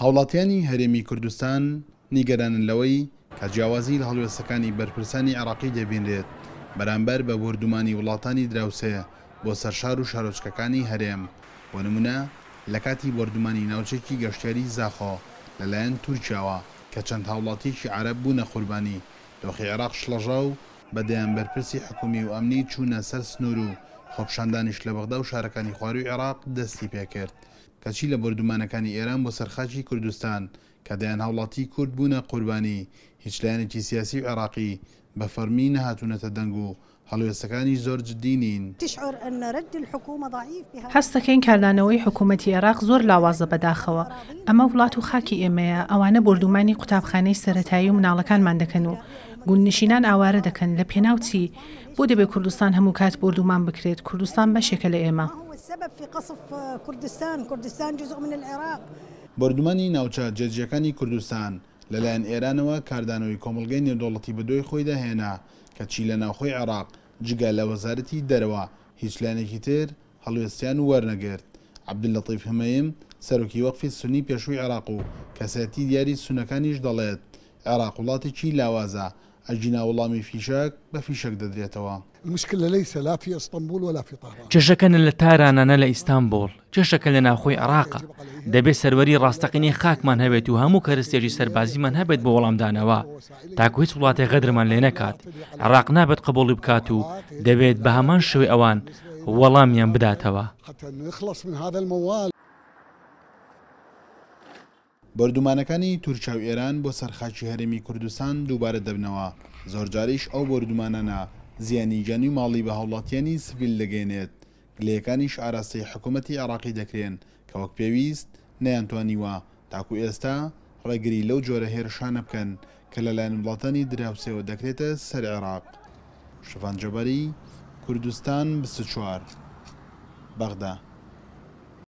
هاوڵاتیانی هەرێمی کوردستان نیگەرانن لەوەی کە جیاوازی لە هەڵوێستەکانی بەرپرسانی عێراقی دەبینرێت بەرامبەر بە بۆردومانی وڵاتانی دراوسێ بۆ سەر شار و شارۆچکەکانی هەرێم، بۆ نمونە لە کاتی بۆردومانی ناوچەیەکی گەشتیاری زاخۆ لەلایەن تورکیاوە کە چەند هاوڵاتیەکی عەرەب بوونە قوربانی، دۆخی عێراق شڵەژا و بە دەیان بەرپرسی حکومی و ئەمنی چوونە سەر سنوور و خۆپیشاندانیش لە بەغدا و شارەکانی خوارووی عێراق دەستی پێکرد. کەچی لە بۆردومانەکانی ئێران بۆ سەر خاکی کوردستان کە دەیان هاوڵاتیی کورد بوونە قوربانی، هیچ لایەنێکی سیاسی و عێراقی بە فەڕمی نەهاتوونەتە دەنگ و هەڵوێستەکانیش زۆر جدی نین. هەست دەکەین کاردانەوەی حکوومەتی عێراق زۆر لاوازە بەداخەوە، ئەمە وڵات و خاکی ئێمەیە، ئەوانە بۆردوومانی قوتابخانەی سەرەتایی و مناڵەکانمان دەکەن و گوندنشینان ئاوارە دەکەن، لە پێناو چی؟ بۆ دەبێ کوردستان هەموو کات بۆردوومان بکرێت، کوردستان بەشێکە لە ئێمە. بۆردومانی ناوچە جێجیەکانی کوردستان لەلایەن ئێرانەوە کاردانەوەی کۆمەڵگەی نێودەوڵەتی بەدوای خۆیدا هێنا، کەچی لە ناوخۆی عێراق جگە لە وەزارەتی دەرەوە هیچ لایەنێکی تر هەڵوێستیان وەرنەگرت. عەبدوللەتیف همەیم، سەرۆکی وەقفی سوننی پێشووی عێراق و کەسایەتی دیاری سوننەکانیش دەڵێت، عێراق وڵاتێکی لاوازە، ئەگینا وەڵامی فیشەک بە فیشەک دەدرێتەوە. المشکلە لیس لا فی اسطنبول ولا فی طهران. کێشەکە نە لە تارانە نە لە ئیستانبوڵ، کێشەکە لە ناوخۆی عێراقە. دەبێت سەروەری ڕاستەقینەی خاکمان هەبێت و هەموو کەرستێکی سەربازیمان هەبێت بۆ وەڵامدانەوە، تاکو هیچ وڵاتێک غەدرمان لێ نەکات. عێراق نابێت قبوڵی بکات و دەبێت بە هەمان شێوەی ئەوان وەڵامیان بداتەوە. بۆردومانەکانی تورکیا و ئێران بۆ سەر خاکی هەرێمی کوردستان دووبارە دەبنەوە، زۆرجاریش ئەو بۆردومانانە زیانی گیانی و ماڵی بە هاوڵاتیانی سڤیل دەگەیەنێت، گلەیەکانیش ئاراستەی حکومەتی عێراقی دەکرێن کە وەک پێویست نەیانتوانیوە تاکو ئێستا ڕێگری لەو جۆرە هێرشانە بکەن کە لەلایەن وڵاتانی دراوسێوە دەکرێتە سەر عێراق. شڤان جەباری، کوردستان 24، بەغدا.